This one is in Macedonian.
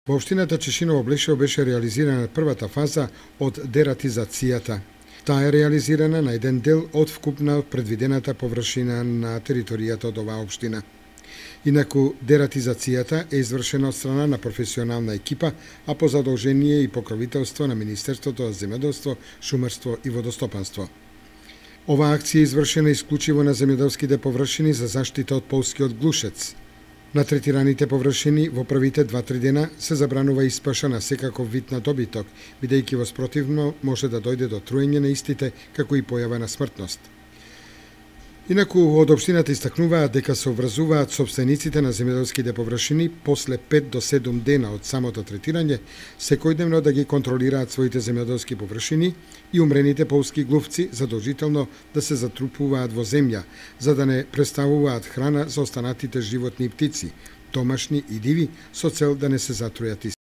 Во општината Чешиново Блешево беше реализирана првата фаза од дератизацијата. Таа е реализирана на еден дел од вкупна предвидената површина на територијата од оваа општина. Инаку дератизацијата е извршена од страна на професионална екипа, а по задолжение и покровителство на Министерството за земјоделство, шумарство и водостопанство. Оваа акција е извршена исклучиво на земјоделските површини за заштита од полскиот глушец. На третираните површини во првите 2-3 дена се забранува испаша на секаков вид на добиток, бидејќи во спротивно може да дојде до труење на истите, како и појава на смртност. Инаку од општината истакнуваат дека се обврзуваат сопствениците на земјоделските површини после 5 до 7 дена од самото третирање, секојдневно да ги контролираат своите земјоделски површини и умрените полски глувци задолжително да се затрупуваат во земја, за да не представуваат храна за останатите животни и птици, домашни и диви, со цел да не се затрујат